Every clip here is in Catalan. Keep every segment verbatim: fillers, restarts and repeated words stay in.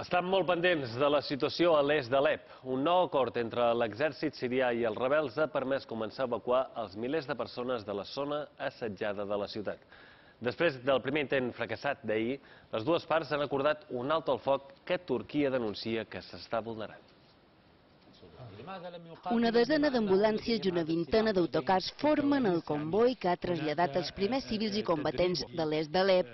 Estan molt pendents de la situació a l'est d'Alep. Un nou acord entre l'exèrcit sirià i els rebels ha permès començar a evacuar els milers de persones de la zona assetjada de la ciutat. Després del primer intent fracassat d'ahir, les dues parts han acordat un alto al foc que Turquia denuncia que s'està vulnerant. Una desena d'ambulàncies i una vintena d'autocars formen el comboi que ha traslladat els primers civils i combatents de l'est d'Alep.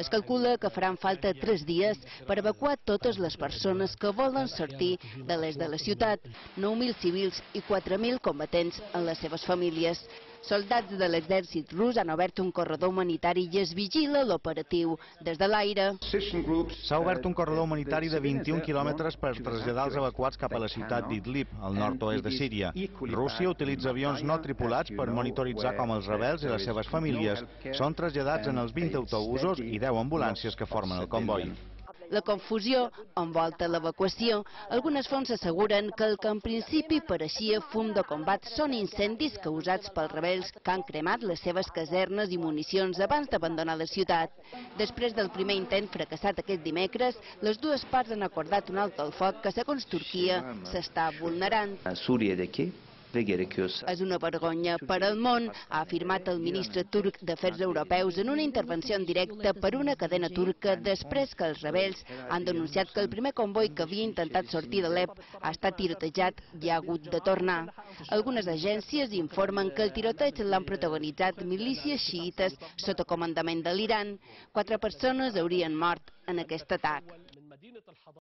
Es calcula que faran falta tres dies per evacuar totes les persones que volen sortir de l'est de la ciutat, nou mil civils i quatre mil combatents en les seves famílies. Soldats de l'exèrcit rus han obert un corredor humanitari i es vigila l'operatiu des de l'aire. S'ha obert un corredor humanitari de vint-i-un quilòmetres per traslladar els evacuats cap a la ciutat d'Idlib, al nord-oest de Síria. Rússia utilitza avions no tripulats per monitoritzar com els rebels i les seves famílies són traslladats en els vint autobusos i deu ambulàncies que formen el comboi. La confusió envolta l'evacuació. Algunes fonts asseguren que el que en principi pareixia fum de combat són incendis causats pels rebels que han cremat les seves casernes i municions abans d'abandonar la ciutat. Després del primer intent fracassat aquest dimecres, les dues parts han acordat un alto al foc que, segons Turquia, s'està vulnerant. És una vergonya per al món, ha afirmat el ministre turc d'Afers Europeus en una intervenció en directe per una cadena turca després que els rebels han denunciat que el primer comboi que havia intentat sortir d'Alep ha estat tirotejat i ha hagut de tornar. Algunes agències informen que el tiroteig l'han protagonitzat milícies xiïtes sota comandament de l'Iran. Quatre persones haurien mort en aquest atac.